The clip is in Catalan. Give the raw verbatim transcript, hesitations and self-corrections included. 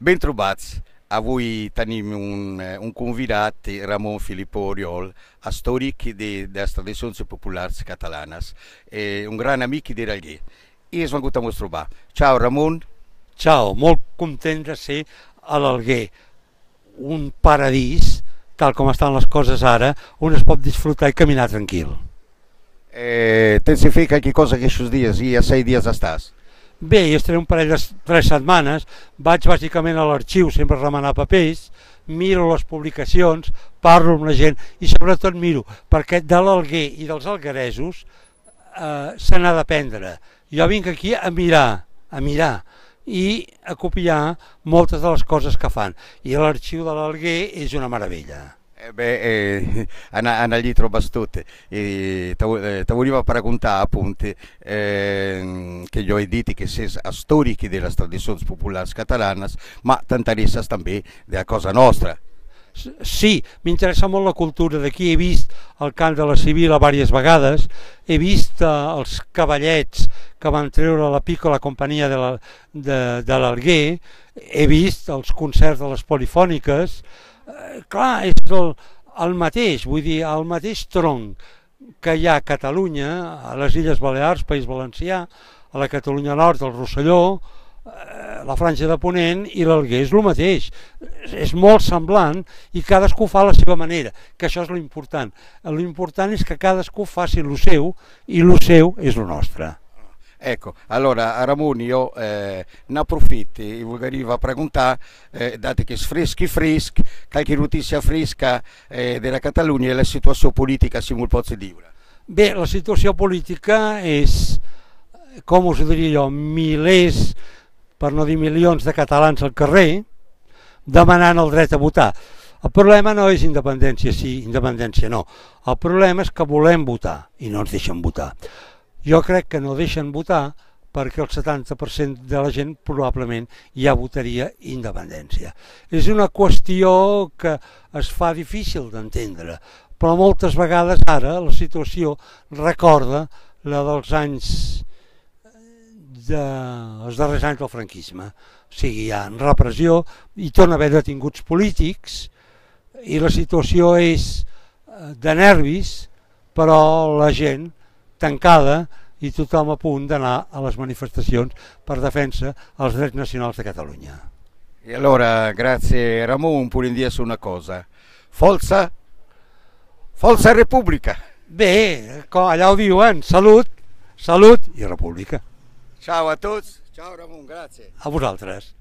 Ben trobats. Avui tenim un, eh, un convidat, eh, Ramon Filippo Oriol, històric de, de les tradicions populars catalanes, eh, un gran amic d'Alger. I és vengut a mos trobar. Ciao Ramon. Ciao, molt content de ser a l'Alguer, un paradís, tal com estan les coses ara, on es pot disfrutar i caminar tranquil. Eh, Tens fet qualque cosa aquests dies i a seis dies estàs? Bé, jo estaré un parell de tres setmanes, vaig bàsicament a l'arxiu, sempre a remenar papers, miro les publicacions, parlo amb la gent i sobretot miro, perquè de l'Alguer i dels algueresos eh, se n'ha d'aprendre. Jo vinc aquí a mirar, a mirar i a copiar moltes de les coses que fan. I l'arxiu de l'Alguer és una meravella. Eh beh, eh, allí trobes tutto. E ti volevo preguntare appunto eh, che io ho detto che sei storici delle tradizioni popolari catalane, ma ti interessa també della cosa nostra. Sí, m'interessa molt la cultura d'aquí, he vist el cant de la Sibila diverses vegades, he vist eh, els cavallets que van treure la Piccola Companyia de l'Alguer, he vist els concerts de les polifòniques. Eh, clar, és el, el mateix, vull dir, el mateix tronc que hi ha a Catalunya, a les Illes Balears, País Valencià, a la Catalunya Nord, el Rosselló, eh, la Franja de Ponent i l'Alguer és el mateix. És molt semblant i cadascú fa a la seva manera, que això és l'important. L'important és que cadascú faci el seu i el seu és el nostre. Ecco, allora Ramon io eh, ne approfitto e volevo preguntare, eh, dato che è freschi freschi, qualche notizia fresca eh, della Catalunya e la situazione politica si vuol poter dire? Bé, la situació política és, com us ho diria jo, milers, per no dir milions de catalans al carrer, demanant el dret a votar. El problema no és independència sí, independència no. El problema és que volem votar i no ens deixen votar. Jo crec que no deixen votar perquè el setanta per cent de la gent probablement ja votaria independència. És una qüestió que es fa difícil d'entendre, però moltes vegades ara la situació recorda la dels anys, de, els darrers anys del franquisme. O sigui, hi ha repressió i torna a haver detinguts polítics i la situació és de nervis, però la gent tancada i tothom a punt d'anar a les manifestacions per defensa els drets nacionals de Catalunya. E allora, grazie Ramon, pure in dire una cosa. Forza, Forza Repubblica! Bé, allà ho diuen, salut, salut i república. Ciao a tots, ciao Ramon, grazie. A vosaltres.